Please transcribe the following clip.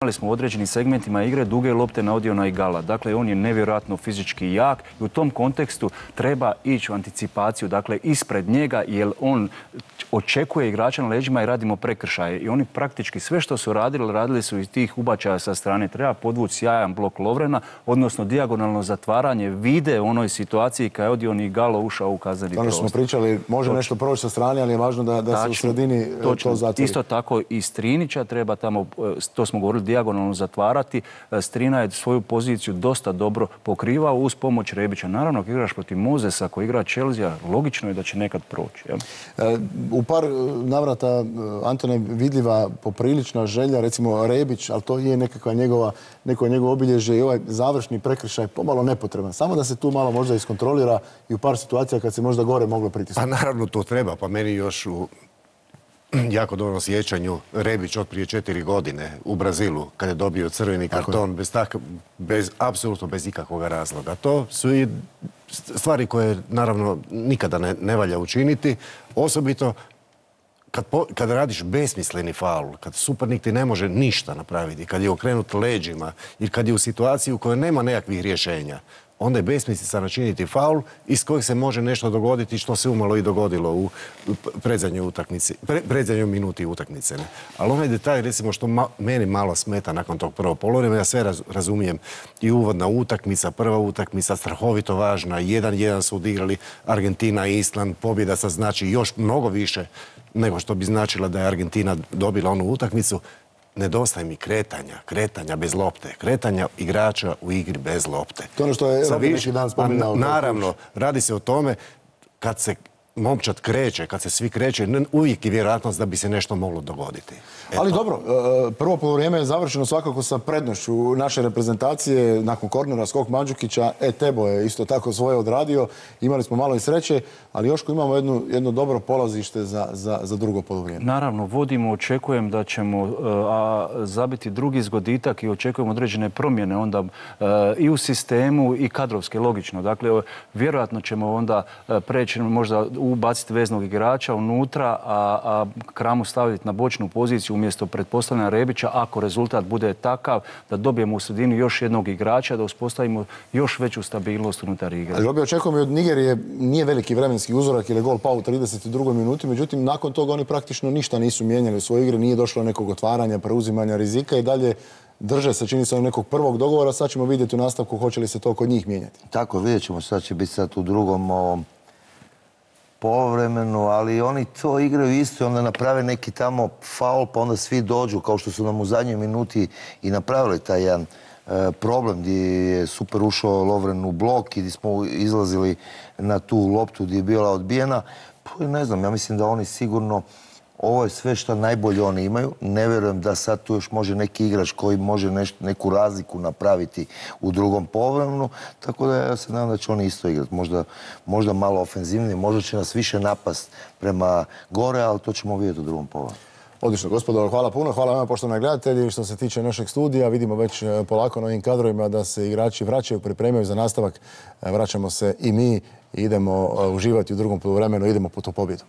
Imali smo u određenim segmentima igre duge lopte na Odiona Igala. Dakle, on je nevjerojatno fizički jak i u tom kontekstu treba ići u anticipaciju, dakle, ispred njega, jer on očekuje igrača na leđima i radimo prekršaje. I oni praktički sve što su radili su iz tih ubačaja sa strane. Treba podvući sjajan blok Lovrena, odnosno dijagonalno zatvaranje vide u onoj situaciji kada je Odion Igalo ušao u kazneni prostor. Ono što smo pričali, može nešto proći sa strane, ali je važno da se u sredini to zatvori. Isto tako i Strinića treba tamo, to smo govorili, dijagonalno zatvarati. Strina je svoju poziciju dosta dobro pokrivao uz pomoć Rebića. Naravno, ako igraš protiv Mozesa, ako igra Chelsea, logično je da će nekad proći. Ja? U par navrata, Antone, vidljiva poprilična želja, recimo Rebić, ali to je neko njegovo obilježje i ovaj završni prekršaj pomalo nepotreban. Samo da se tu malo možda iskontrolira i u par situacija kad se možda gore moglo pritisnuti. Pa naravno to treba, pa meni još u jako dobrom sjećanju Rebić od prije 4 godine u Brazilu, kada je dobio crveni karton, apsolutno bez ikakvog razloga. To su i stvari koje naravno nikada ne valja učiniti, osobito kad radiš besmisleni faul, kad suparnik ti ne može ništa napraviti, kad je okrenut leđima i kad je u situaciji u kojoj nema nekakvih rješenja, onda je besmislica načiniti faul iz kojeg se može nešto dogoditi što se umalo i dogodilo u predzadnjoj minuti utakmice. Ali onaj detalj, recimo, što meni malo smeta nakon tog prvog poluvremena, ja sve razumijem, i uvodna utakmica, prva utakmica, strahovito važna, 1-1 su odigrali Argentina i Island, pobjeda sad znači još mnogo više nego što bi značila da je Argentina dobila onu utakmicu. Nedostaje mi kretanja bez lopte, kretanja igrača u igri bez lopte. To je ono što je Robin neki dan spominjao. Naravno, radi se o tome kad se momčad kreće, kad se svi kreće, uvijek je vjerojatnost da bi se nešto moglo dogoditi. Ali dobro, prvo poluvrijeme je završeno svakako sa prednošću naše reprezentacije nakon kornera, skok Mandžukića. Tebo je isto tako svoje odradio. Imali smo malo i sreće, ali Joško, imamo jedno dobro polazište za drugo poluvrijeme. Naravno, vodimo, očekujem da ćemo zabiti drugi zgoditak i očekujem određene promjene onda i u sistemu i kadrovske, logično. Dakle, vjerojatno ćemo onda preći možda ubaciti veznog igrača unutra, a Kramu staviti na bočnu poziciju umjesto pretpostavljena Rebića, ako rezultat bude takav da dobijemo u sredini još jednog igrača, da uspostavimo još veću stabilnost unutar igre. Ali Robi, očekujemo i od Nigerije, nije veliki vremenski uzorak jer je gol pao u 32. minuti, međutim, nakon toga oni praktično ništa nisu mijenjali u svojoj igri, nije došlo nekog otvaranja, preuzimanja rizika i dalje drže se, čini se, nekog prvog dogovora. Sad ćemo vidjeti u nastavku hoće li se to kod njih mijenjati. Tako, vidjet ćemo, sad će biti sad u drugom poluvremenu, ali oni to igraju isto i onda naprave neki tamo faul, pa onda svi dođu, kao što su nam u zadnjoj minuti i napravili taj jedan problem gdje je super ušao Lovren u blok i gdje smo izlazili na tu loptu gdje je bila odbijena. Pa ne znam, ja mislim da oni sigurno, ovo je sve što najbolje oni imaju. Ne vjerujem da sad tu još može neki igrač koji može neku razliku napraviti u drugom poluvremenu. Tako da ja se nadam da će oni isto igrati. Možda malo ofenzivnije, možda će nas više napast prema gore, ali to ćemo vidjeti u drugom poluvremenu. Odlično, gospodo, hvala puno. Hvala vama, poštovani gledatelji. Što se tiče našeg studija, vidimo već polako na ovim kadrovima da se igrači vraćaju, pripremaju za nastavak. Vraćamo se i mi i idemo uživati u drugom poluvremenu, idemo po tu pobjedu.